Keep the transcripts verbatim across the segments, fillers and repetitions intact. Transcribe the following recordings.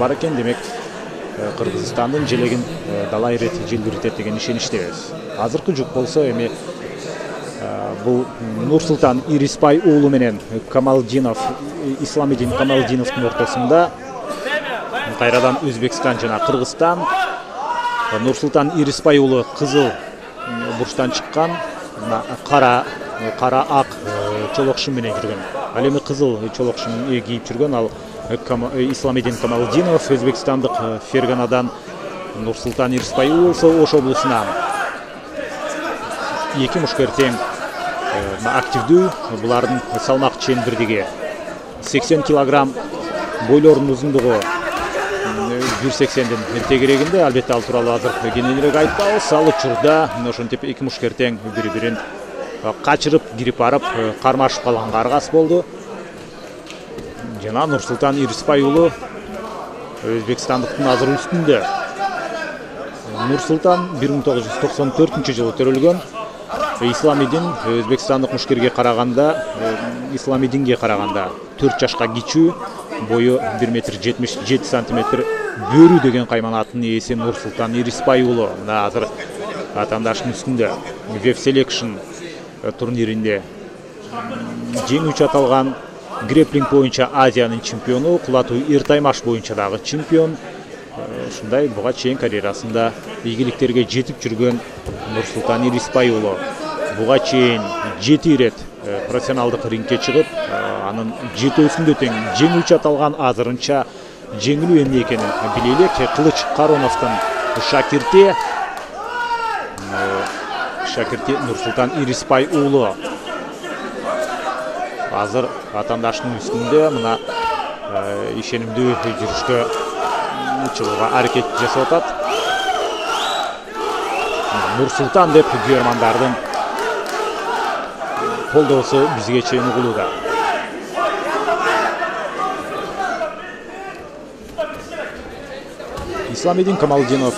бар экен. Демек Кыргызстандын желегин далай ирет желбиртет деген ишеничтебиз. Азыркы жук болсо эми бул Нурсултан Ирисбай уулу менен Камалдинов, Исламидин Камалдиновдун ортосунда. Кайрадан Өзбекстан жана Кыргызстан. Нурсултан Ирисбай уулу кызыл бурчтан чыккан, кара кара ак чолок шым менен жүргөн. Ал эми кызыл чолок шым кийип жүргөн ал Исламидин Камалдинов, өзбекстандык Ферганадан. Нурсултан Ирисбай болсо Ош облусунан. Эки мушкер тең активдүү. Булардын салмак чен бирдиги сексен килограмм, бойлорунун узундугу бир сексендин тегерегинде. Албетте ал тууралуу азыр кененирээк айтпабыз. Ал учурда ошентип эки мушкер тең бири-бирин качырып, кирип барып, кармашып калганга аргас болду. Жана Нурсултан Ирисбай уулу Өзбекстандыктын азыр үстүндө. Нурсултан бир миң тогуз жүз токсон төртүнчү жылы төрөлгөн. Исламидин Өзбекстандык мушкерге караганда, Исламидинге караганда төрт жашка кичүү, бою бир метр жетимиш жети сантиметр, бөрү деген кайманаттын ээси Нурсултан Ирисбай уулу. Мына азыр атаандаштын үстүндө Веб Selection турниринде жеңүүчү аталган. Греплинг боюнча Азиянын чемпиону, кулатуу эр таймаш боюнча дагы чемпион. Ушундай буга чейин карьерасында ийгиликтерге жетип жүргөн Нурсултан Ирисбай уулу буга чейин жети ирет профессионалдык рингке чыгып, анын жетөөсүндө тең жеңүүчү аталган. Азырынча жеңилүү эмне экенин билелик. Кылыч Кароновдун шакирти шакирти Нурсултан Ирисбай уулу азыр атаандашынын үстүндө мына ишенимдүү жүрүшкө чыгууга аракет жасап атат. Нурсултан деп күйөрмандардын колдоосу бизге чейин угулууда. Исламидин Камалдинов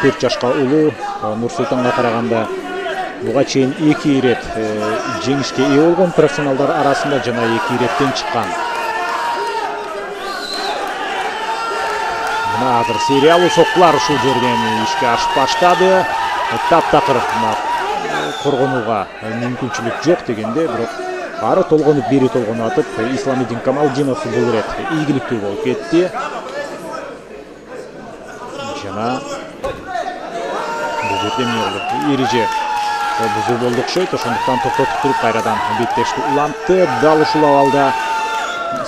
төрт жашка улуу. Нурсултанга караганда буга чейин эки ирет жеңишке ээ болгон профессионалдар арасында жана эки иреттен чыккан. Мына азыр сериялуу соккулар ушул жерден ишке ашып баштады. Таптакыр коргонууга мүмкүнчүлүк жок дегенде, бирок ары толгонуп, бери толгонуп атып, Исламидин Камалдинов бул ирет ийгиликтүү болуп кетти. Жана бул жерде эмне болду? Эреже бузуу болду окшойт. Ошондуктан токтотуп туруп кайрадан беттешти улантты. Дал ушул абалда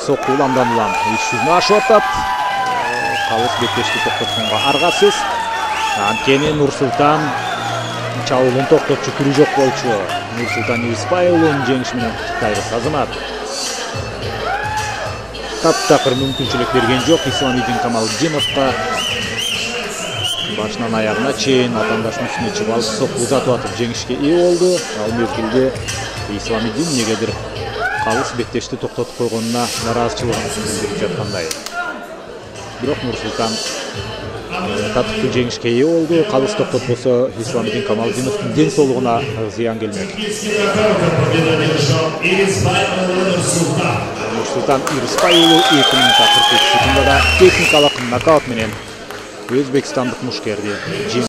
сокку уламдан улам иш жүзүнө ашып атат. Калыс беттешти токтотконго аргасыз. Анткени Нурсултан чабуулун токтотчу түрү жок болчу. Нурсултан Ирисбай уулунун жеңиши менен куттуктайбыз азамат. Таптакыр мүмкүнчүлүк берген жок Исламидин Камалдиновго. Башынан аягына чейин атаандаштын үстүнө чыгып алып, сокку узатып атып жеңишке ээ болду. Ал мезгилде Исламидин негедир калыс беттешти токтотуп койгонуна нараазычылыгын билдирип жаткандай. Бирок Нурсултан татыктуу жеңишке ээ болду. Калыс токтотпосо Исламидин Камалдиновдун ден соолугуна зыян келмек. Нурсултан Ирисбай уулу эки минутта кырк эки секундада техникалык нокаут менен өзбекстандык мушкерди